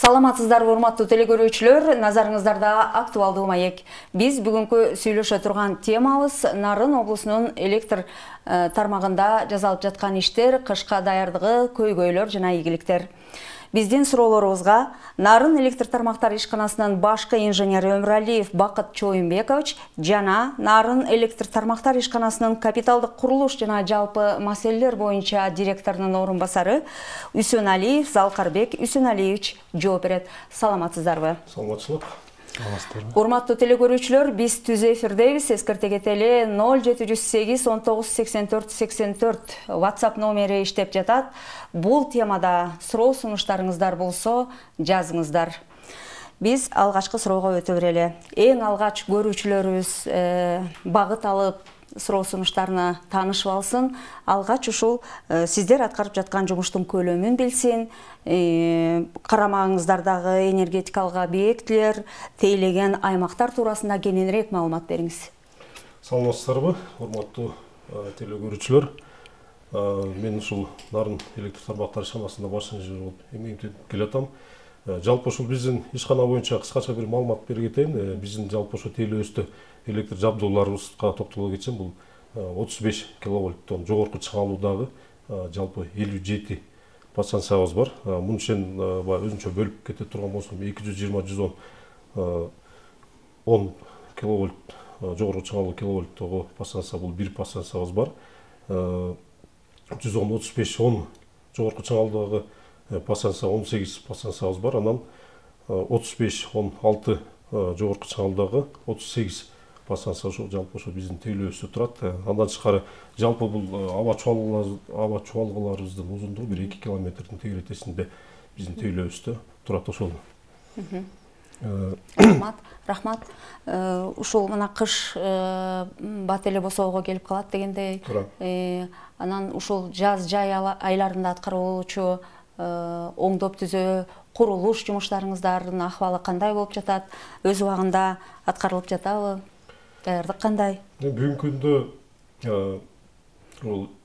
Саламатсыздарбы, урматтуу телекөрүүчүлөр, назарыңыздарда актуалдуу маек. Биз бүгүнкү сүйлөшө турган темабыз Нарын облусунун электр тармагында жасалып жаткан иштер, кышка даярдыгы, көйгөйлөр жана ийгиликтер. Биздин суроолорубузга Нарын электр тармактар ишканасынын башкы инженери Өмүралиев Бакыт Чоюнбекович жана Нарын электр тармактар ишканасынын капиталдык курулуш жана жалпы маселелер боюнча директорунун орун басары Үсөнәлиев Залкарбек Үсөнәлиевич жооп берет. Саламатсыздарбы? Саламатчылык. Урматтуу телекөрүүчүлөр, биз түз эфирдебиз. Эскерте кетели 0708 19 84 84 WhatsApp номери иштеп жатат. Бул темада суроо сунуштарыңыздар болсо жазыңыздар. Биз алгачкы суроого өтө берели. Эң алгач көрүүчүлөрүбүз багыт алып суроо сунуштарына таанышып алсын. Алгач ушул сиздер аткарып жаткан жумуштун көлөмүн билсин. Карамагыңыздардагы энергетикалык объектилер, тейлеген аймактар туурасында кененирээк маалымат бериңиз. Саламатсыздарбы, урматтуу телекөрүүчүлөр. Мен ушул Нарын электр тармактар ишканасында баш инженер болуп эмгектенип келатам. Жалпы ушул биздин ишкана боюнча кыскача бир маалымат бере кетейин. Биздин жалпы ошо тейлөөбүздө электр жабдууларыбызга токтоло кетсем, бул 35 киловольттон жогорку чыңалуудагы жалпы 57 подстанциябыз бар. Мунун ишин өзүнчө бөлүп кете турган болсом 220-110 10 киловольт жогорку чыңалуу киловольттогу подстанция, бул бир подстанциябыз бар. 110-35-10 жогорку чыңалуудагы подстанция 18 подстанциябыз бар. Анан 35-16 жогорку чыңалуудагы 38 подстанция жалпы ошо биздин тейлөөбүздө турат. Андан тышкары жалпы бул аба чуалгаларыбыздын узундугу 1-2 километрдин тегеретесинде биздин тейлөөбүздө турат ошол. Рахмат. Ушул мына кыш бат эле босоого келип калат дегендей. Анан ушул жаз жай айларында аткарылуучу оңдоп түзөө курулуш жумуштарыңыздардын акыбалы кандай болуп жатат? Өз убагында аткарылып жатабы? Даярдык кандай? Бүгүнкү күндө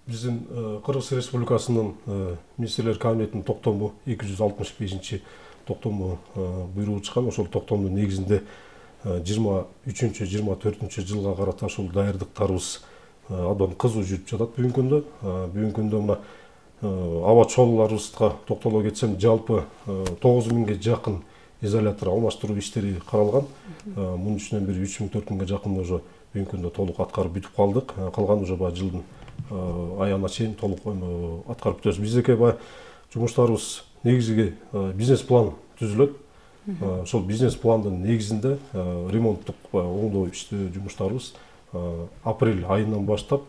биздин Кыргыз Республикасынын министрлер кабинетинин токтому 265 токтому буйругу чыккан. Ошол токтомдун негизинде 23-24 жылга карата ушул даярдыктарыбыз абдан кызуу жүрүп жатат. Бүгүнкү күндө мына аба чуалууларыбызга токтоло кетсем, жалпы 9000ге жакын изолятор алмаштыруу иштери каралган. Мунун үстүнөн бир 3000-4000ге жакын уже бүгүнкү күндө толук аткарып бүтүп калдык. Калган уже баягы жылдын аягына чейин толук аткарып бүтөбүз. Биздики баягы жумуштарыбыз негизги бизнес план түзүлөт. Ошол бизнес пландын негизинде ремонттук оңдоо иштөө жумуштарыбыз апрель айынан баштап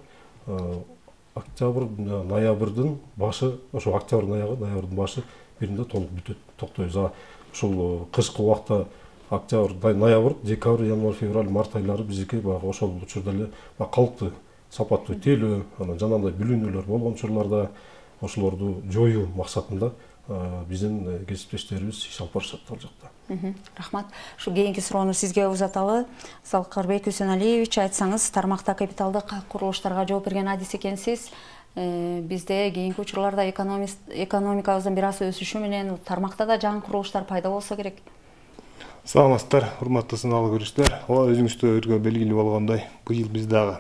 октябрь, ноябрдын башы, ошо октябрь ноябрдын башы биринде толук бүтөт, токтойбуз. Ушул кышкы убакта октябрь, ноябрь, декабрь, январь, февраль, март айлары биздики баягы ошол учурда эле калктуу сапаттуу тейлөө, анан жанагындай бүлүнүүлөр болгон учурларда ошолорду жоюу максатында биздин кесиптештерибиз иш алып барышат ал жакта. Рахмат. Ушу кийинки суроону сизге узаталы. Залкарбек Үсөнәлиевич, айтсаңыз, тармакта капиталдык курулуштарга жооп берген адис экенсиз. Бизде кийинки учурларда экономикабыздын бир аз өсүшү менен тармакта да жаңы курулуштар пайда болсо керек. Саламатсыздар, урматтуу сыналгы көрүүчүлөр. Өзүңүздөргө белгилүү болгондой, быйыл биз дагы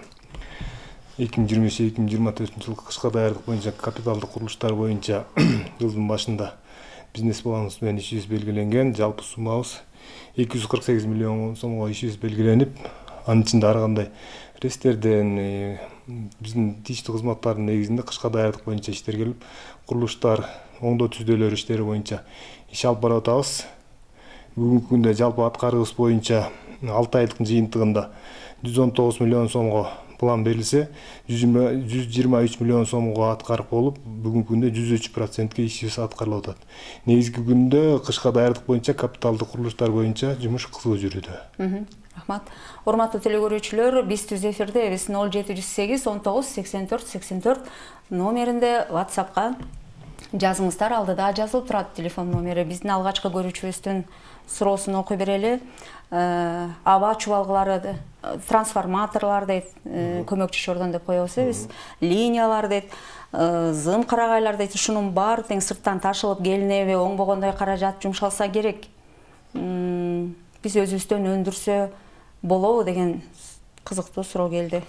2023-2024 жылкы кышка даярдык боюнча капиталдык курулуштар боюнча жылдын башында бизнес планыбыз менен ишибиз белгиленген. Жалпы суммабыз 248 миллион сомго ишибиз белгиленип, анын ичинде ар кандай рестерден биздин тийиштүү кызматтардын негизинде кышка даярдык боюнча иштер келип, курулуштар, оңдоо түздөлөр иштери боюнча иш алып барып атабыз. Бүгүнкү күндө жалпы аткарыбыз боюнча 6 айлык жыйынтыгында 119 миллион сомго план берилсе, 123 миллион сомго аткарып болуп, бүгүнкү күндө 103%ке ишибиз аткарылып атат. Негизги күндө кышка даярдык боюнча капиталдык курулуштар боюнча жумуш кызуу жүрүүдө. Рахмат. Урматтуу телекөрүүчүлөр, биз түз эфирдебиз. 0708 19 84 84 номеринде WhatsAppка жазыңыздар, алдыда жазылып турат телефон номери. Биздин алгачкы көрүүчүбүздүн суроосун окуй берели. Аба чубалгылары, трансформаторлар дейт, көмөкчү чордон деп коебуз биз, линиялар дейт, зым карагайлар дейт, ушунун баары тең сырттан ташылып келинеби, оңбогондой каражат жумшалса керек. Биз өзүбүздөн өндүрсө болобу деген кызыктуу суроо келди.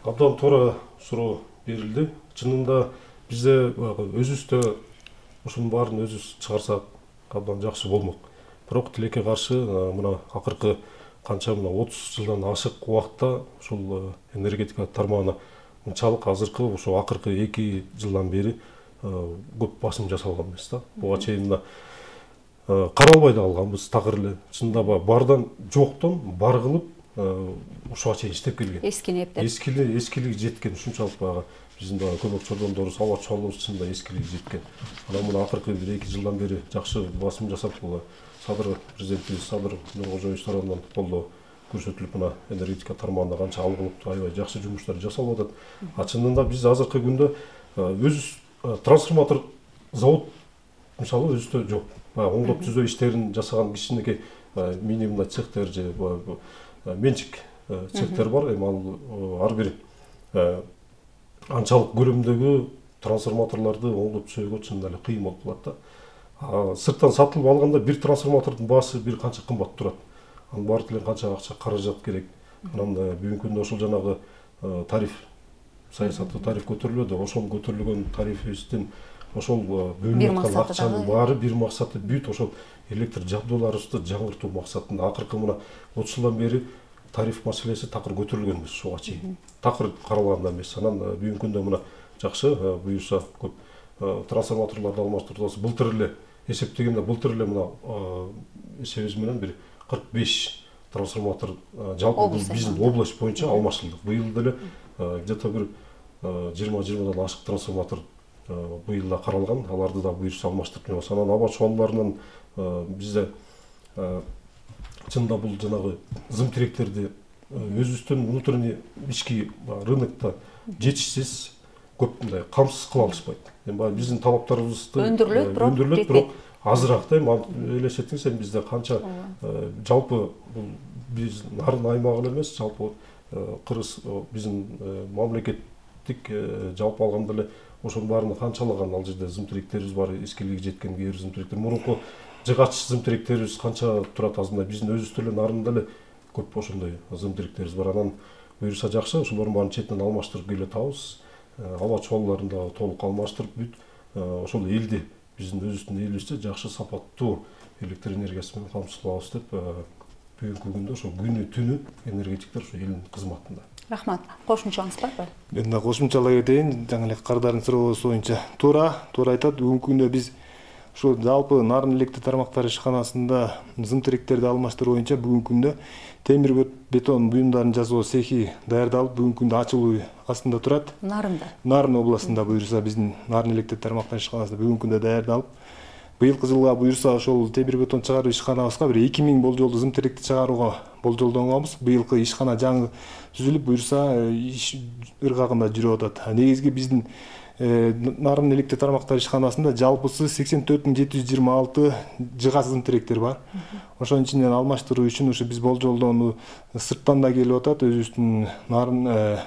Абдан туура суроо берилди. Чынында бизде өзүбүздө ушунун баарын өзүбүз чыгарсак абдан жакшы болмок. Бирок тилекке каршы мына акыркы канча 30 жылдан ашык убакытта ушул энергетика тармагына мынчалык азыркы ошо акыркы 2 жылдан бери көп басым жасалган эмес да. Буга чейин мына каралбай да калганбыз такыр эле. Чынында бардан жоктон бар кылып ушуга чейин иштеп келген. Эскилиги жеткен, ушунчалык баягы биздин көмөк чордондорубуз, аба чолубуз чынында эскилиги жеткен. Анан мына акыркы 1-2 жылдан бери жакшы басым жасап Садыр президентибиз Садыр Нуркожоевич тарабынан колдоо көрсөтүлүп, мына энергетика тармагында канча алгылыктуу аябай жакшы жумуштар жасалып атат. Чынында биз азыркы күндө өзүбүз трансформатор завод мисалы өзүбүздө жок. Оңдоп түзөө иштерин жасаган кичинекей мини мындай цехтер же менчик цехтер бар. Эми ал ар бир анчалык көлөмдөгү трансформаторлорду оңдоп түзөөгө чын эле кыйын болуп калат да. Сырттан сатылып алганда бир трансформатордун баасы бир канча кымбат турат. Анын баары деле канча акча каражат керек. Анан бүгүнкү күндө ошол жанагы тариф саясаты, тариф көтөрүлөдү. Ошол көтөрүлгөн тарифибиздин ошол бөлүнүп аткан акчанын баары бир максаты бүт ошол электр жабдууларыбызды жаңыртуу максатында. Акыркы мына 30 жылдан бери тариф маселеси такыр көтөрүлгөн эмес ушуга чейин. Такыр каралган эмес. Анан бүгүнкү күндө мына жакшы буюрса көп трансформаторлорду алмаштырып, былтыр эле эсептегенде былтыр эле мына эсебибиз менен бир 45 трансформатор жалпы биздин область боюнча алмаштырылды. Быйыл деле где-то бир 20-20дан ашык трансформатор быйыл да каралган. Аларды да буюрса алмаштырып жатабыз. Анан аба чуалларынын бизде чынында бул жанагы зым тиректерди өзүбүздүн внутренний ички рынокто жетишсиз көп мындай камсыз кыла алышпайт. Эми баягы биздин талаптарыбызды өндүрүлөт, бирок азыраак да. Эми элестетиңиз, эми бизде канча жалпы бул биз нарын аймагы эмес, жалпы кыргыз биздин мамлекеттик жалпы алганда эле ошонун баарына канчалаган ал жерде зым тиректерибиз бар, эскилиги жеткен кээ бир зым тиректер. Мурунку жыгач зым тиректерибиз канча турат азында, биздин өзүбүздө эле нарында эле көп ошондой зым тиректерибиз бар. Анан буюрса жакшы, ошолордун баарын четинен алмаштырып келе атабыз. Аба чуалларын да толук алмаштырып бүт ошол элди биздин өзүбүздүн элибизде жакшы сапаттуу электр энергиясы менен камсыз кылабыз деп бүгүнкү күндө ошо күнү түнү энергетиктер ошо элдин кызматында. Рахмат. Кошумчаңыз барбы? Мен да кошумчалай кетейин. Жаңы эле Кардардын суроосу боюнча туура айтат. Бүгүнкү күндө биз ошо жалпы Нарын электр тармактары ишканасында зым тиректерди алмаштыруу боюнча бүгүнкү күндө темир бетон буюмдарын жасоо цехи даярдалып, бүгүнкү күндө ачылуу астында турат. Нарын областында буюрса биздин Нарын электр тармактары ишканасында бүгүнкү күндө даярдалып, быйылкы жылга буюрса ошол темир бетон чыгаруу ишканабызга бир 2000 болжолдуу зым тиректи чыгарууга болжолдонгонбуз. Быйылкы ишкана жаңы түзүлүп, буюрса иш ыргагында жүрүп атат. Негизги биздин Нарын электр тармактары ишканасында жалпысы 84726 жыгач зым тиректер бар. Ошонун ичинен алмаштыруу үчүн ушу биз болжолдоону сырттан да келип атат. Өзүбүздүн Нарын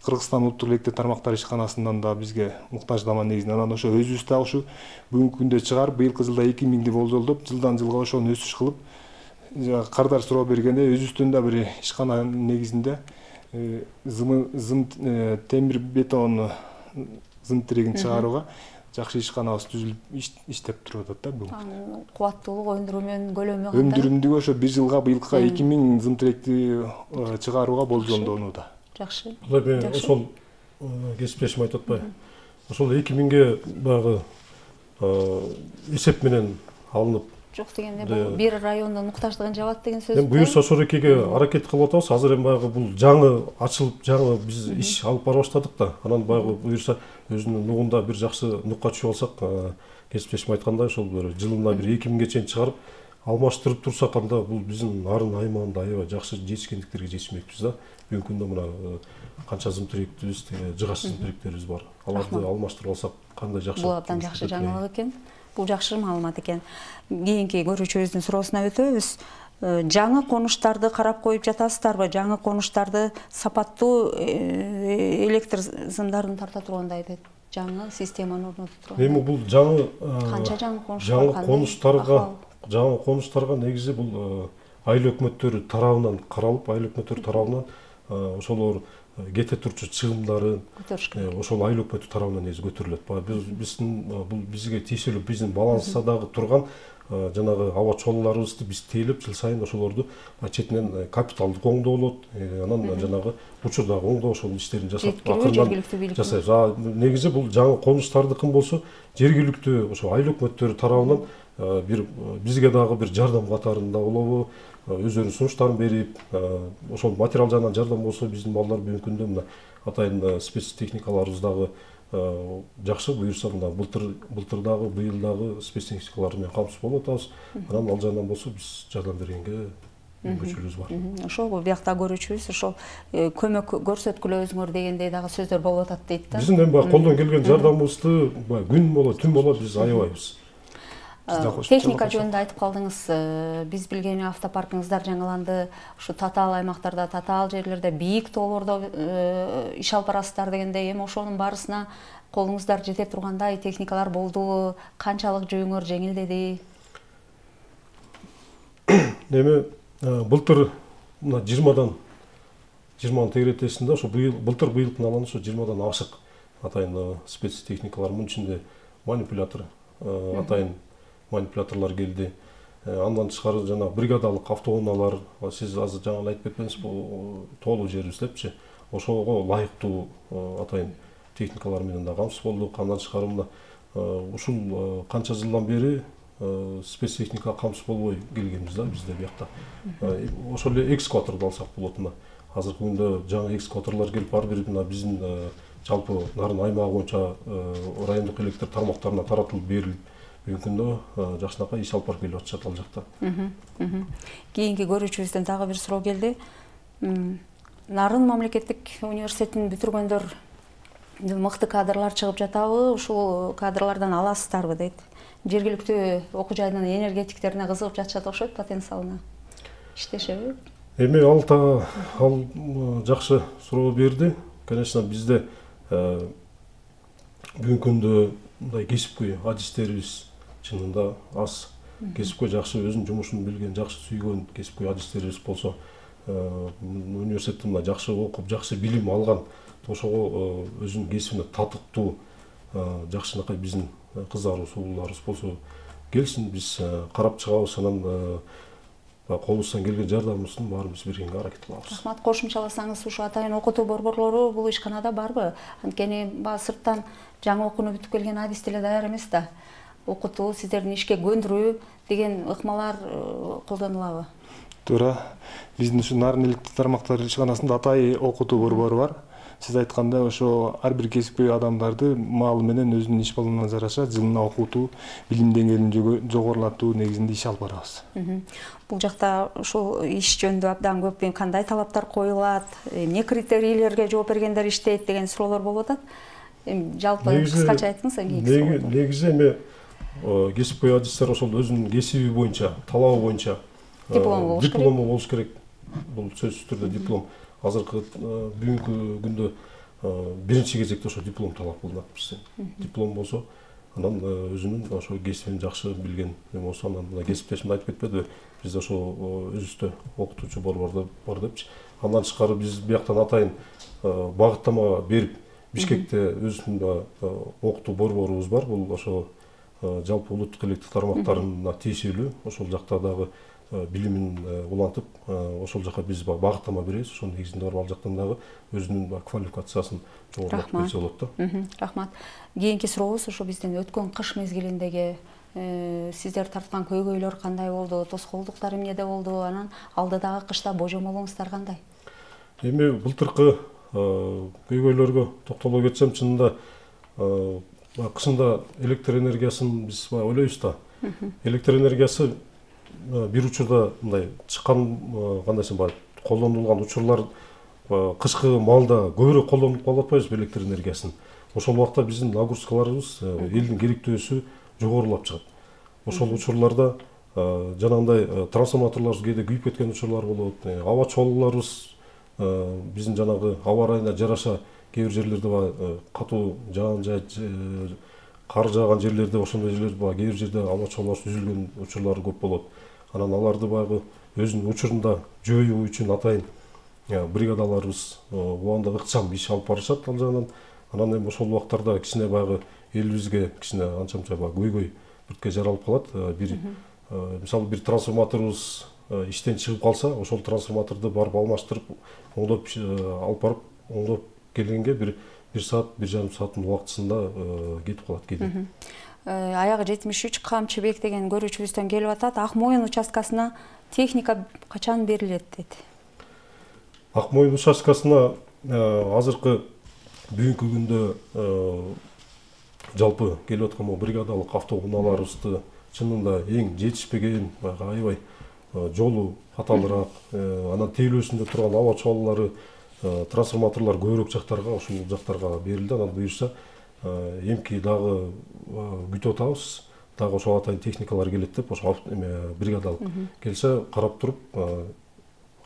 Кыргызстан улуттук электр тармактары ишканасынан да бизге муктаждама негизинен. Анан ошо өзүбүз да ушу бүгүнкү күндө чыгарып, быйылкы жылда 2000ди болжолдоп, жылдан жылга ошону өсүш кылып, Кардар суроо бергенде өзүбүздүн да бир ишкана негизинде темир бетон зым тирегин чыгарууга жакшы ишканабыз түзүлүп иштеп туруп атат да бүгүн. Кубаттуулугу, өндүрүү көлөмү кандай? Өндүрүмдүгү ошо бир жылга быйылкыга 2000 зым тиректи чыгарууга болжолдонууда. Жакшы. Ошол кесиптешим айтып атпайбы? Ошол 2000ге баягы эсеп менен алынып жок дегенде бул бир райондун муктаждыгын жабат деген сөз. Эми буюрса ошол экеге аракет кылып атабыз. Азыр эми баягы бул жаңы ачылып, жаңы биз иш алып бара баштадык да. Анан баягы буюрса өзүнүн нугунда бир жакшы нукка түшүп алсак, кесиптешим айткандай ошол бир жылына бир 2000ге чейин чыгарып, алмаштырып турсак анда бул биздин нарын аймагында аябай жакшы жетишкендиктерге жетишмекпиз да. Бүгүнкү күндө мына канча зымтыректибиз, жыгач зымтыректерибиз бар. Аларды алмаштырып алсак кандай жакшы. Бул абдан жакшы жаңылык экен. Бул жакшы маалымат экен. Кийинки көрүүчүбүздүн суроосуна өтөбүз. Жаңы конуштарды карап коюп жатасыздарбы? Жаңы конуштарды сапаттуу электр сымдарын тарта тургандай жаңы системаны орнотуп турган. Эми бул жаңы канча жаңы конуштарга негизи бул айыл өкмөттөрү тарабынан каралып, айыл өкмөттөрү тарабынан ошолор кете турчу чыгымдары ошол айыл өкмөтү тарабынан негизи көтөрүлөт. Биздин бул бизге тиешелүү биздин балансадагы турган жанагы аба чолууларыбызды биз тейлеп жыл сайын ошолорду четинен капиталдык оңдоо болот, анан жанагы учурдагы оңдоо ошол иштерин жасап жергиликтүү жасайбыз. Негизи бул жаңы конуштардыкын болсо жергиликтүү ошо айыл өкмөттөрү тарабынан бир бизге дагы бир жардам катарында болобу, өздөрүнүн сунуштарын берип, ошол материал жагынан жардам болсо биздин балдар бүгүнкү күндө мына атайын спецтехникаларыбыз дагы жакшы буюрса мына былтыр дагы быйыл дагы спецтехникалар менен камсыз болуп атабыз. Анан ал жагынан болсо биз жардам бергенге мүмкүнчүлүгүбүз бар. Ошол биякта көрүүчүбүз ошол көмөк көрсөткүлө дегендей дагы сөздөр болуп атат дейт да. Биздин эми баягы колдон келген жардамыбызды күн болот, түн болот биз аябайбыз. Техника жөнүндө айтып калдыңыз. Биз билгени автопаркыңыздар жаңыланды. Ушу татаал аймактарда, татаал жерлерде, бийик тоолордо иш алып барасыздар дегендей, эми ошонун барысына колуңуздар жете тургандай техникалар болдубу? Канчалык жүйүңөр жеңилдеди? Эми былтыр мына 20 тегеретесинде ошо былтыр быйылкын алганда ошо 20 ашык атайын спецтехникалар, мунун ичинде манипулятор, атайын манипуляторлор келди. Андан тышкары жана бригадалык автоунаалар, сиз азыр жаңы айтып кетпедиңиз, тоолуу жерибиз депчи. Ошого ылайыктуу атайын техникалар менен да камсыз болдук. Андан тышкары мына ушул канча жылдан бери спецтехника камсыз болбой келгенбиз да бизде биякта. Ошол эле экскаваторду алсак болот. Мына азыркы күндө жаңы экскаваторлор келип ар бир мына биздин жалпы нарын аймагы боюнча райондук электр тармактарына таратылып берилип бүгүнкү күндө жакшынакай иш алып барып келип атышат ал жакта. Кийинки көрүүчүбүздөн дагы бир суроо келди. Нарын мамлекеттик университетин бүтүргөндөр мыкты кадрлар чыгып жатабы? Ушул кадрлардан аласыздарбы дейт. Жергиликтүү окуу жайынын энергетиктерине кызыгып жатышат окшойт, потенциалына иштешеби? Эми ал жакшы суроо берди. Конечно, бизде бүгүнкү күндө мындай кесипкөй адистерибиз чынында аз. Кесипкөй жакшы өзүнүн жумушун билген, жакшы сүйгөн кесипкөй адистерибиз болсо, университетте мына жакшы окуп, жакшы билим алган, ошого өзүнүн кесибине татыктуу жакшынакай биздин кыздарыбыз, уулдарыбыз болсо келсин, биз карап чыгабыз, анан колубуздан келген жардамыбыздын баарыбыз бергенге аракет кылабыз. Рахмат. Кошумчаласаңыз, ушу атайын окутуу борборлору бул ишканада барбы? Анткени сырттан жаңы окууну бүтүп келген адис деле даяр эмес да. Окутуу, сиздердин ишке көндүрүү деген ыкмалар колдонулабы? Туура. Биздин ушу Нарын электр тармактары ишканасында атайын окутуу борбору бар. Сиз айткандай, ошо ар бир кесипкөй адамдарды маалы менен өзүнүн иш балына жараша жылына окутуу, билим деңгээлин жогорулатуу негизинде иш алып барабыз. Бул жакта ушул иш жөнүндө абдан көп кандай талаптар коюлат, эмне критерийлерге жооп бергендер иштейт деген суроолор болуп атат. Жалпы кыскача айтыңыз. Негизи эми кесипкөй адистер ошол өзүнүн кесиби боюнча, талабы боюнча диплому болуш керек. Бул сөзсүз түрдө диплом. Азыркы бүгүнкү күндө биринчи кезекте ошо диплом талап кылынат бизден. Диплом болсо, анан өзүнүн ошо кесибин жакшы билген, болсо анан кесиптешим айтып кетпедиби? Бизде ошо өзүбүздө окутуучу борбордо бар депчи. Андан тышкары биз бияктан атайын багыттама берип, Бишкекте өзүнүн окутуу борборубуз бар. Бул ошо жалпы улуттук электр тармактарына тиешелүү. Ошол жакта дагы билимин улантып, ошол жака биз багыттама беребиз. Ошонун негизинде барып ал жактан дагы өзүнүн квалификациясын жогорулатып келсе болот да. Рахмат. Кийинки сурообуз ошо биздин өткөн кыш мезгилиндеги сиздер тарткан көйгөйлөр кандай болду? Тоскоолдуктар эмнеде болду? Анан алдыдагы кышта божомолуңуздар кандай? Эми былтыркы көйгөйлөргө токтоло кетсем, чынында кышында электр энергиясын биз ойлойбуз да. Электр энергиясы бир учурда мындай чыккан кандайсы баягы колдонулган учурлар кышкы маалда көбүрөөк колдонуп калып атпайбызбы электр энергиясын. Ошол убакта биздин нагрузкаларыбыз элдин керектөөсү жогорулап чыгат. Ошол учурларда жанагындай трансформаторлорубуз кээде күйүп кеткен учурлар болот. Аба чолууларыбыз биздин жанагы аба ырайына жараша кээ бир жерлерде баягы катуу жаан кар жааган жерлерде ошондой жерлерде баягы кээ бир жерде аба чолуулар үзүлгөн учурлар көп болот. Анан аларды баягы өзүнүн учурунда жоюу үчүн атайын бригадаларыбыз убагында ыкчам иш алып барышат ал жагынан. Анан эми ошол убактарда кичине баягы элибизге кичине анча-мынча баягы көйгөй бүрткө жаралып калат. Мисалы бир трансформаторубуз иштен чыгып калса, ошол трансформаторду барып алмаштырып, оңдоп алып барып, оңдоп келгенге бир саат, 1,5 сааттын убактысында кетип калат кээде. Аягы 73 Камчыбек деген көрүүчүбүздөн келип атат. Ак Моюн участкасына техника качан берилет дейт? Ак Моюн участкасына азыркы бүгүнкү күндө жалпы келип аткан бригадалык автоунааларыбызды чынында эң жетишпеген, аябай жолу каталыраак, анан тейлөөсүндө турган аба чоолулары, трансформаторлор көбүрөөк жактарга, ошол жактарга берилди. Анан буюрса эмки дагы күтүп атабыз. Дагы ошого атайын техникалар келет деп, ошо бригадалык келсе карап туруп,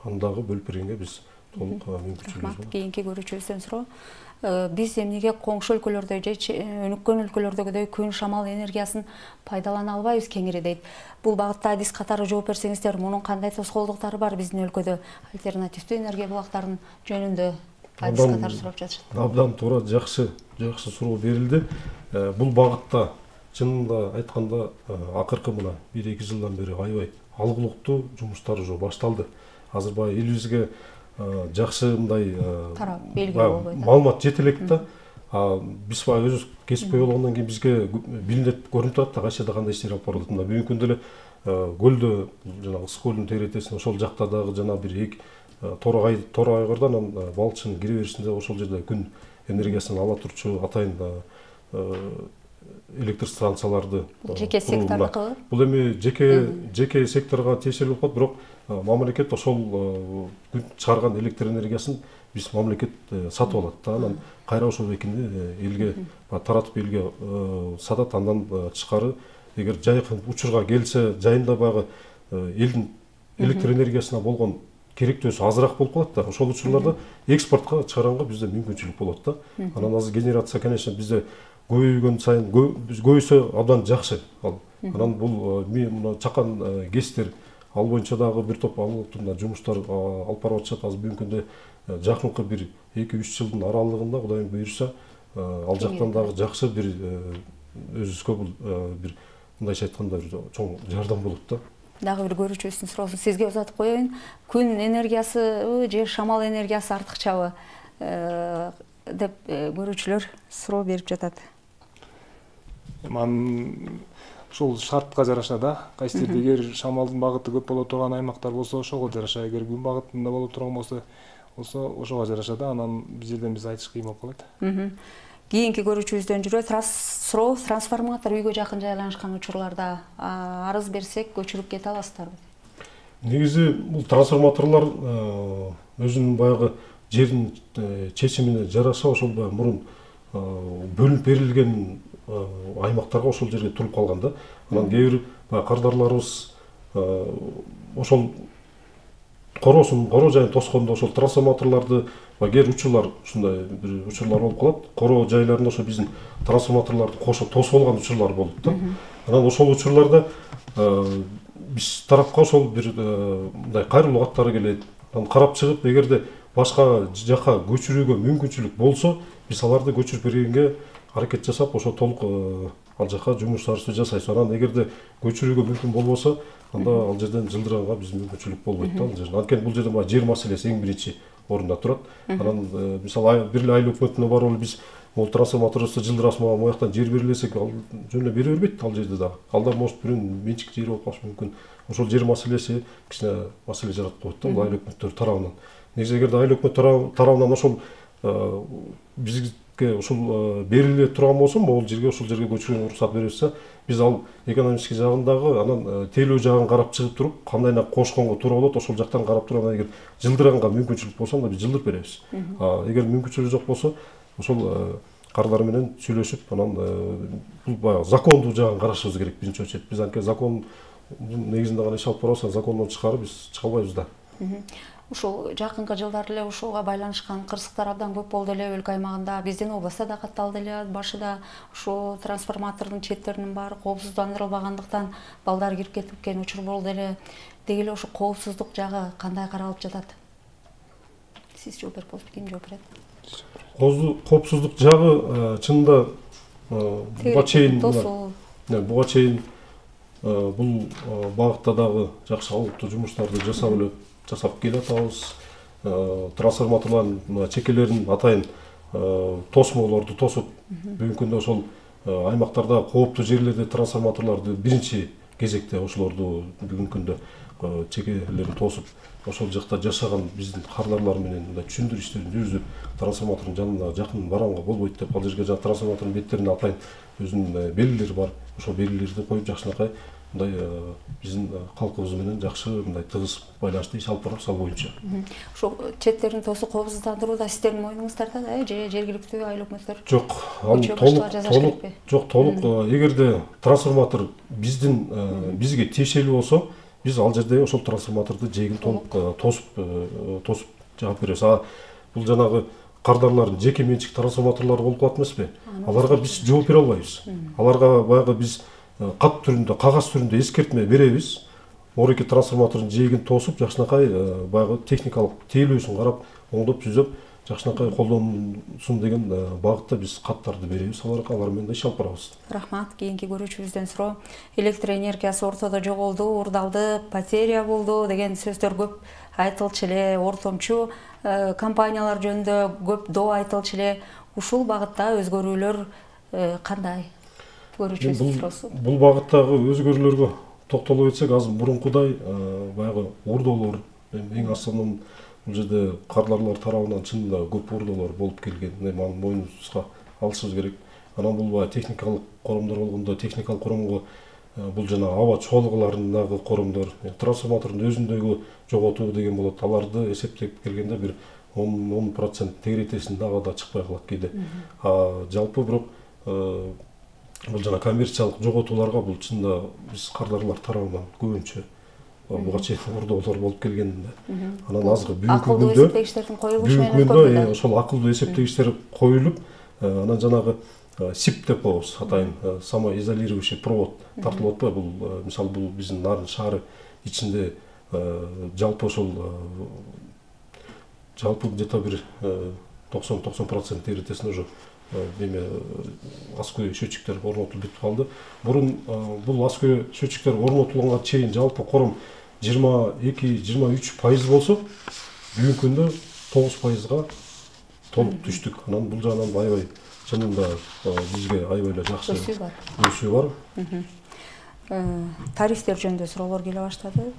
аны дагы бөлүп бергенге биз толук мүмкүнчүлүгүбүз бар. Кийинки көрүүчүбүздөн суроо. Биз эмнеге коңшу өлкөлөрдө же өнүккөн өлкөлөрдөгүдөй күн шамал энергиясын пайдалана албайбыз кеңири дейт. Бул багытта адис катары жооп берсеңиздер, мунун кандай тоскоолдуктары бар биздин өлкөдө? Альтернативдүү энергия булактарынын жөнүндө адис катары сурап жатышат. Абдан туура, жакшы суроо берилди. Бул багытта чынында айтканда акыркы мына 1-2 жылдан бери аябай алгылыктуу жумуштар уже башталды. Азыр баягы элибизге жакшы мындай маалымат жете элек да. Биз баягы өзүбүз кесипкөй болгондон кийин бизге билинип көрүнүп турат да кайчерде кандай иштер алып барылат. Мына бүгүнкү күндө эле көлдө жанагы Ысык көлдүн теретесинде ошол жакта дагы жана бир тор айгырда анан балыкчынын кире беришинде ошол жерде күн энергиясын ала турчу атайын электр станцияларды жеке сектор аркылы. Бул эми жеке секторго тиешелүү болуп калат, бирок мамлекет ошол күн чыгарган электр энергиясын биз мамлекет сатып алат да. Анан кайра ошол экинди элге таратып элге сатат. Андан тышкары эгер жайкы учурга келсе, жайында баягы элдин электр энергиясына болгон керектөөсү азыраак болуп калат да. Ошол учурларда экспортко чыгаранга бизде мүмкүнчүлүк болот да. Анан азыр генерация, конечно, бизде көбөйгөн сайын көбөйсө абдан жакшы. Анан бул мына чакан ГЭСтер ал боюнча дагы бир топ алгылыктуу жумуштар алып барып атышат. Азыр бүгүнкү күндө жакынкы бир 2-3 жылдын аралыгында Кудайым буйрса ал жактан дагы жакшы бир өзүбүзгө бул бир мындайча айтканда бир чоң жардам болот да. Дагы бир көрүүчүбүздүн суроосун сизге узатып коеюн. Күн энергиясы же шамал энергиясы артыкчабы деп көрүүчүлөр суроо берип жатат. Ушул шартка жараша да. Кайсы жерде эгер шамалдын багыты көп боло турган аймактар болсо, ошого жараша, эгер күн багытында боло турган болсо, ошого жараша да. Анан биз жерден айтыш кыйын болуп калат. Кийинки көрүүчүбүздөн суроо, трансформатор үйгө жакын жайланышкан учурларда арыз берсек көчүрүп кете аласыздарбы? Негизи бул трансформаторлор өзүнүн баягы жердин чечимине жараша ошол мурун бөлүнүп берилген аймактарга ошол жерге туруп калган да. Анан кээ бир кардарларыбыз ошол коро жайын тоскондо ошол трансформаторлорду кээ бир учурлар ушундай бир учурлар болуп калат. Коро жайларында ошо биздин трансформаторлорду кошо тосуп алган учурлар болот да. Анан ошол учурларда биз тарапка ошол бир мындай кайрылуу каттары келет. Анан карап чыгып, эгерде башка жака көчүрүүгө мүмкүнчүлүк болсо, биз аларды көчүрүп бергенге аракет жасап, ошо толук ал жака жумуштарыбызды жасайбыз. Анан эгерде көчүрүүгө мүмкүн болбосо, анда ал жерден жылдыранга биз мүмкүнчүлүк болбойт да. Анткени бул жерде жер маселеси эң биринчи орунда турат. Анан мисалы бир эле айыл өкмөтүнө барып эле биз бул трансформаторубузду жылдырасың, мага мояктан жер берилесек, ал жөн эле бере бербейт ал жерде дагы. Алда может бирөөнүн менчик жери болуп калышы мүмкүн. Ошол жер маселеси кичине маселе жаратып коет да айыл өкмөттөр тарабынан. Негизи эгерде айыл өкмөт тарабынан ошол бизге экономистке ушул бериле турган болсо, могул жерге ушул жерге көчүрүүгө уруксат беребиз. Биз ал экономистик жагындагы анан тейлөө жагын карап чыгып туруп, кандайына кошконго туура болот, ошол жактан карап туруп, эгер жылдырганга мүмкүнчүлүк болсо, анда биз жылдырып беребиз. Эгер мүмкүнчүлүк жок болсо, ошол кардар менен сүйлөшүп, анан бул баягы закондуу жагын карашыбыз керек биринчи очередь. Биз анткени закон негизинде гана иш алып барабыз, закондон тышкары биз чыга албайбыз да. Ушул жакынкы жылдары эле ушуга байланышкан кырсыктар абдан көп болду эле өлкө аймагында. Биздин областта да катталды эле. Башыда ушу трансформатордун четтеринин баары коопсуздандырылбагандыктан балдар кирип кеткен учур болду эле. Деги эле ушу коопсуздук жагы кандай каралып жатат? Сиз жооп берип болсо, ким жооп берет? Коопсуздук жагы чынында буга чейин бул багытта дагы жакшы алыктуу жумуштарды жасап келатабыз. Трансформаторлордун чекелерин атайын тосмолорду тосуп, бүгүнкү күндө ошол аймактарда кооптуу жерлерде трансформаторлорду биринчи кезекте ошолорду бүгүнкү күндө чекелерин тосуп, ошол жакта жашаган биздин кардарлар менен мындай түшүндүрүү иштерин жүргүзүп, трансформатордун жанына жакын барганга болбойт деп, ал жерге жаңы трансформатордун беттерине атайын өзүнүн белгилери бар. Ошол белгилерди коюп жакшынакай мындай биздин калкыбыз менен жакшы мындай тыгыз байланышты иш алып барабыз ал боюнча. Ошол четтерин тосуп коопсуздандырууда сиздердин моюнуңуздарда да, же жергиликтүү айыл өкмөттөр? Жок, толук эгерде трансформатор бизге тиешелүү болсо, биз ал жерде ошол трансформаторду жээгин толук тосуп жаап беребиз. Бул жанагы кардарлардын жеке менчик трансформаторлору болуп калат эмеспи? Аларга биз жооп бере албайбыз. Аларга баягы биз кат түрүндө, кагаз түрүндө эскертме беребиз. Мореки трансформатордун жээгин тосуп, жакшынакай баягы техникалык тейлөөсүн карап, оңдоп түзөп, жакшынакай колдонсун деген багытта биз каттарды беребиз. Алар менен да иш алып барабыз. Рахмат. Кийинки көрүүчүбүздөн суроо. Электр энергиясы ортодо жоголду, урдалды, потеря болду деген сөздөр көп айтылчу эле, ортомчу компаниялар жөнүндө көп доо айтылчу эле. Ушул багытта өзгөрүүлөр кандай? Көрүүчүбүздүн суроосу. Бул багыттагы өзгөрүүлөргө токтоло кетсек, азыр мурункудай баягы урдоолор, эң основном бул жерде кардарлар тарабынан чынында көп урдоолор болуп келген. Маны мойнубузга алышыбыз керек. Анан бул баягы техникалык коромдор болгондо, техникалык коромго бул жана аба чоалгыларындагы коромдор, трансформатордун өзүндөгү жоготуу деген болот. Аларды эсептеп келгенде бир 10% тегеретесин дагы да чыкпай калат кейде. Жалпы бирок бул жана коммерциялык жоготууларга бул чында биз кардарлар тарабынан көбүнчө буга чейин урдоолор болуп келгенде. Анан азыр бүгүнкү күндө ошол акылдуу эсептегичтер коюлуп, анан жанагы СИП деп коебуз, атайын самоизолирующий провод тартылып атпайбы? Бул мисалы бул биздин Нарын шаары ичинде жалпы ошол где-то бир 90% тегеретесин уже аскөй счетчиктер орнотулуп бүтүп калды. Мурун бул аскөй счетчиктер орнотулганга чейин жалпы кором 22-23% болсо, бүгүнкү күндө 9%га толук түштүк. Анан бул жагынан аябай чынында бизге аябай эле жакшы өсүү бар. Тарифтер жөнүндө суроолор келе баштады.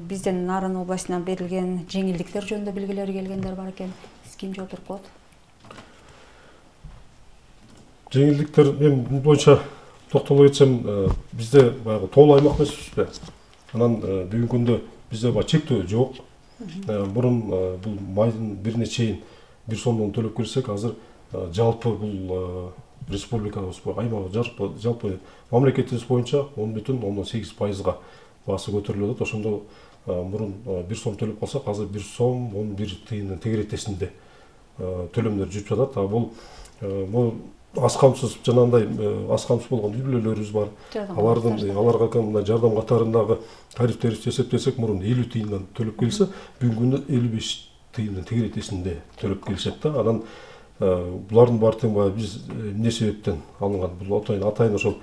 Биздин Нарын областынан берилген жеңилдиктер жөнүндө билгилери келгендер бар экен. Сиз ким жооп берип коет? Жеңилдиктер мен боюнча токтоло кетсем, бизде баягы тоолуу аймак эмеспизби? Анан бүгүнкү күндө бизде баягы чектөө жок. Мурун бул майдын бирине чейин 1 сомдон төлөп келсек, азыр жалпы бул республикабыз, аймак жалпы мамлекетибиз боюнча 10,8%га баасы көтөрүлүп атат. Ошондо мурун 1 сом төлөп калсак, азыр 1 сом 11 тыйындын тегеретесинде төлөмдөр жүрүп жатат. Бул аз камсыз, жанагындай аз камсыз болгон үй бүлөлөрүбүз бар. Аларга мындай жардам катарындагы тарифтерди эсептесек, мурун 50 тыйындан төлөп келсе, бүгүнкү күндө 55 тыйындын тегеретесинде төлөп келишет да. Анан булардын баары тең баягы биз эмне себептен алынган? Бул атайын ошол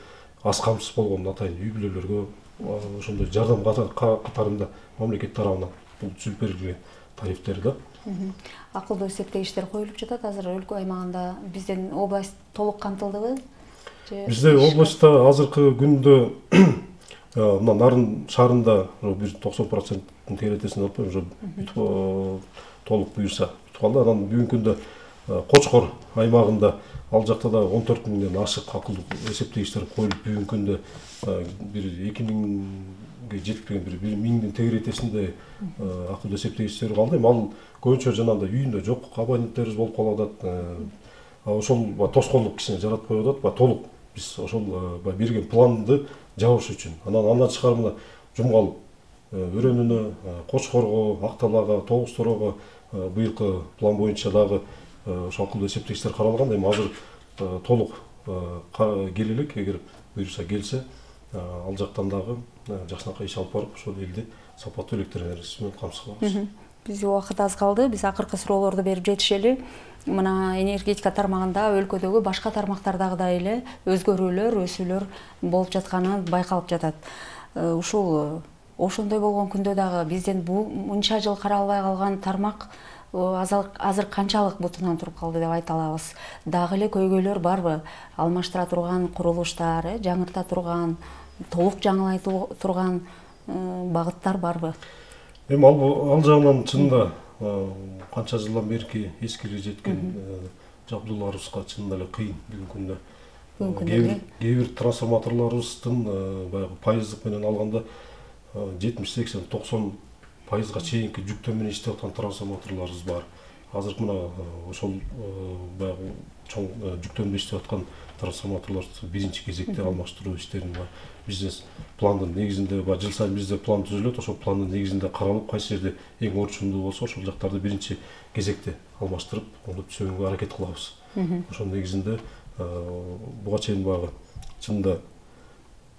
аз камсыз болгон атайын үй бүлөлөргө ошондой жардам катарында мамлекет тарабынан бул түзүп берилген тарифтер да. Акылдуу эсептегичтер коюлуп жатат. Азыр өлкө аймагында биздин область толук камтылдыбы? Бизде областта азыркы күндө мына Нарын шаарында бир 90% тегеретесин алып уже толук буюрса бүтүп калды. Анан бүгүнкү күндө Кочкор аймагында ал жакта да 14 миңден ашык акылдуу эсептегичтер коюлуп бүгүнкү күндө бир 2 миңге жетпеген бир 1 миңдин тегеретесинде акылдуу эсептегичтер калды. Эми ал көбүнчө жанагындай үйүндө жок абоненттерибиз болуп калып атат. Ошол тоскоолдук кичине жаратпай атат. Толук биз ошол берген планды жабыш үчүн. Андан тышкары мына Жумгал өрөөнүнө, Кочкорго, Акталага, Тогуз Торого быйылкы план боюнча дагы ошо акылдуу эсептегичтер каралган. Эми азыр толук келе элек, эгер буюрса келсе, ал жактан дагы жакшынакай иш алып барып, ошол элди сапаттуу электр энергиясы менен камсыз кылабыз. Биз убакыт аз калды. Биз акыркы суроолорду берип жетишели. Мына энергетика тармагында өлкөдөгү башка тармактардагыдай эле өзгөрүүлөр, өсүүлөр болуп жатканы байкалып жатат. Ушул ошондой болгон күндө дагы бизден мынча жыл каралбай калган тармак азыр канчалык бутунан туруп калды деп айта алабыз. Дагы эле көйгөйлөр барбы? Алмаштыра турган курулуштар, жаңырта турган, толук жаңылай турган багыттар барбы? Эми ал жагынан чынында канча жылдан берки эскири жеткен жабдууларыбызга чынында эле кыйын бүгүнкү күндө. Кээ бир трансформаторлорубуздун баягы пайыздык менен алганда 70-80-90% чейинки жүктөө менен иштеп аткан трансформаторлорубуз бар. Азыр мына ошол баягы чоң жүктөмдө иштеп аткан трансформаторлорду биринчи кезекте алмаштыруу иштерин бизнес пландын негизинде жыл сайын бизде план түзүлөт. Ошол пландын негизинде каралып, кайсы жерде эң орчундуу болсо, ошол жактарды биринчи кезекте алмаштырып, оңдоп түзүүгө аракет кылабыз. Ошол негизинде буга чейин баягы чынында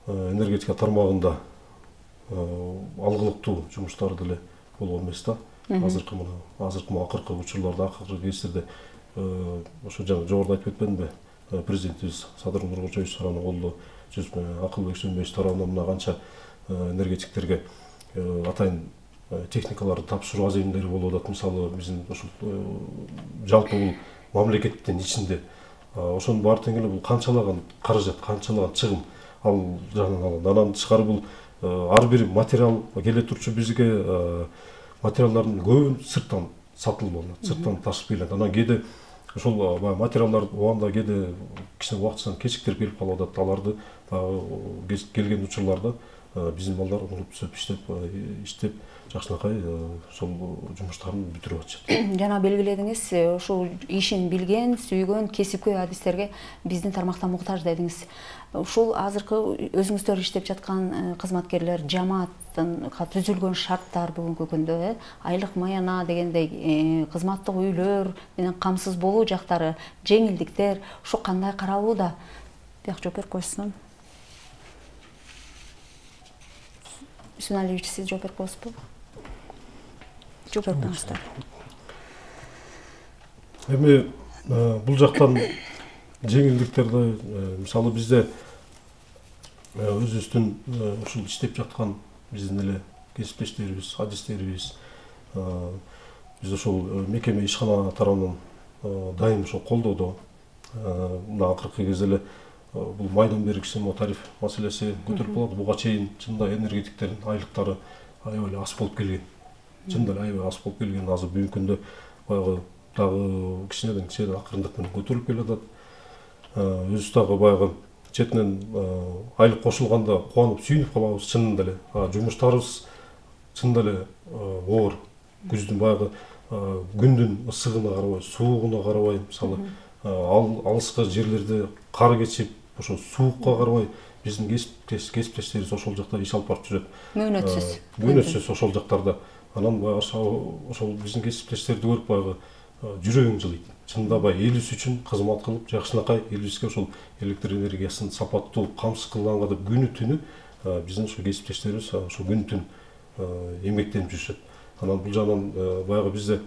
энергетика тармагында алгылыктуу жумуштар деле болгон эмес да. Азыркы акыркы учурларда, акыркы кездерде ошо жана жогоруда айтып кетпедимби? Президентибиз Садыр Нуркожоевич тарафынан колдоо Акылбек Сөнбеевич тарафынан мына канча энергетиктерге атайын техникаларды тапшыруу аземдери болуп атат. Мисалы биздин ошол жалпы бул мамлекеттин ичинде ошонун баары тең эле бул канчалаган каражат, канчалаган чыгым ал жагынан алганда. Андан тышкары бул ар бир материал келе турчу бизге материалдардын көбүн сырттан сатылып алынат, сырттан ташып келет. Анан кээде ошол материалдар убагында кээде кичине убактыдан кечиктирип келип калып атат. Аларды келген учурларда биздин балдар оңдоп түзөп иштеп жакшынакай ошол жумуштарын бүтүрүп атышат. Жана белгиледиңиз, ушул ишин билген, сүйгөн кесипкөй адистерге биздин тармакта муктаж дедиңиз. Ушул азыркы өзүңүздөр иштеп жаткан кызматкерлер, жамааттынга түзүлгөн шарттар бүгүнкү күндө айлык маяна дегендей кызматтык үйлөр менен камсыз болуу жактары, жеңилдиктер ушу кандай каралууда? Бияк жооп берип койсун. Бисмилла Алиевич, сиз жооп берип коесузбу? Жооп бериңиздар. Эми бул жактан жеңилдиктерди мисалы бизде өзүбүздүн ушул иштеп жаткан биздин эле кесиптештерибиз, адистерибиз биз ошол мекеме ишкана тарабынан дайым ошол колдоодо. Мына акыркы кезде эле бул майдан бери кичине тариф маселеси көтөрүлүп калат. Буга чейин чында энергетиктердин айлыктары аябай аз болуп келген. Чында эле аябай аз болуп келген. Азыр бүгүнкү күндө баягы дагы кичинеден акырындык менен көтөрүлүп келатат. Өзүбүз дагы баягы четинен айлык кошулганда кубанып сүйүнүп калабыз. Чынында эле жумуштарыбыз чынында эле оор. Күздүн баягы күндүн ысыгына карабай, суугуна карабай, мисалы алыскы жерлерде кар кечип, ошо суукка карабай биздин кесиптештерибиз ошол жакта иш алып барып жүрөт. Мөөнөтсүз ошол жактарда. Анан ошол биздин кесиптештерди көрүп баягы жүрөгүң жылыйт. Чынында баягы элибиз үчүн кызмат кылып, жакшынакай элибизге ошол электр энергиясын сапаттуу камсыз кылганга деп күнү түнү биздин ошо кесиптештерибиз ошо күн түн эмгектенип жүрүшөт. Анан бул жагынан баягы бизде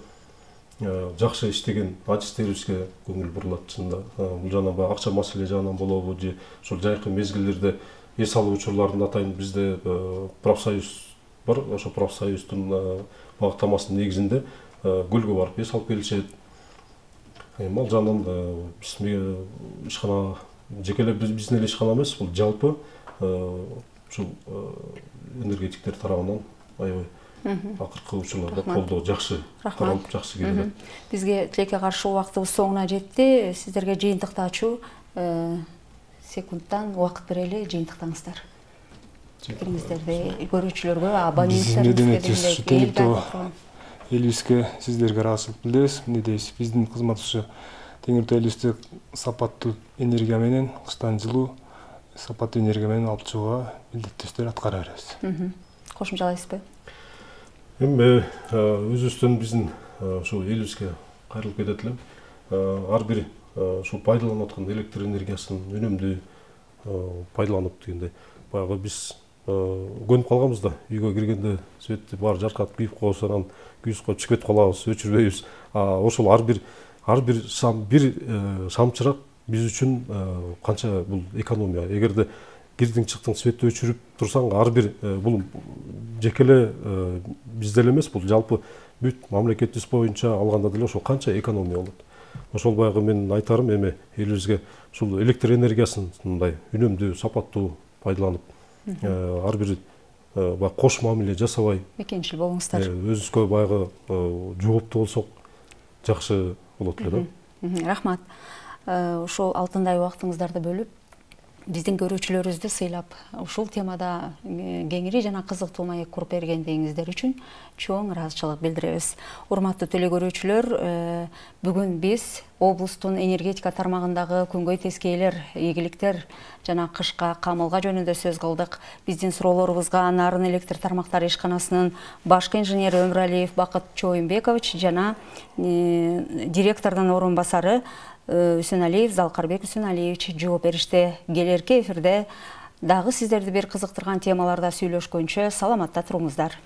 жакшы иштеген адистерибизге көңүл бурулат. Чынында бул жагынан баягы акча маселе жагынан болобу же ошол жайкы мезгилдерде эс алуу учурларында атайын бизде профсоюз бар. Ошо профсоюздун багыттамасынын негизинде көлгө барып эс алып келишет. Эми ал жагынан биз ишкана жеке эле биздин эле ишкана эмес, бул жалпы ушул энергетиктер тарабынан аябай акыркы учурларда колдоо жакшы каралып, жакшы келет. Бизге тилекке каршы убактыбыз соңуна жетти. Сиздерге жыйынтыкты ачуу секундтан убакыт берели, жыйынтыктаңыздар. Пикириңиздерди көрүүчүлөргө, абоненттерибизге, элибизге сиздерге ыраазычылык билдиребиз. Эмне дейбиз? Биздин кызмат ушу Теңиртау элибизди сапаттуу энергия менен, кыштан жылуу сапаттуу энергия менен алып чыгууга милдеттүү иштер аткара беребиз. Кошумчалайсызбы? Эми өзүбүздөн биздин ошо элибизге кайрылып кетет элем. Ар бир ушул пайдаланып аткан электр энергиясын үнөмдүү пайдаланып дегенде, баягы биз көнүп калганбыз да, үйгө киргенде светти баары жаркатып кийип коебуз, анан күз коюп чыгып кетип калабыз, өчүрбөйбүз. Ошол ар бир шамчырак биз үчүн канча бул экономия. Эгерде кирдиң чыктың светти өчүрүп турсаң, ар бир бул жеке эле бизде эле эмес, бул жалпы бүт мамлекетибиз боюнча алганда деле ошол канча экономия болот. Ошол баягы менин айтарым эми элибизге ушул электр энергиясын мындай үнөмдүү, сапаттуу пайдаланып, ар бир кош мамиле жасабай, мекенчил болуңуздар. Өзүбүзгө баягы жооптуу болсок жакшы болот эле да. Рахмат. Ушул алтындай убактыңыздарды бөлүп, биздин көрүүчүлөрүбүздү сыйлап, ушул темада кеңири жана кызыктуу маек куруп бергендигиңиздер үчүн чоң ыраазычылык билдиребиз. Урматтуу телекөрүүчүлөр, бүгүн биз облустун энергетика тармагындагы күнгөй тескейлер, ийгиликтер жана кышка камылга жөнүндө сөз кылдык. Биздин суроолорубузга Нарын электр тармактары ишканасынын башкы инженери Өмүралиев Бакыт Чоюмбекович жана директордун орун басары Үсөнәлиев Залкарбек Үсөнәлиевич жооп беришти. Келерки эфирде дагы сиздерди бир кызыктырган темаларда сүйлөшкөнчө саламатта туруңуздар.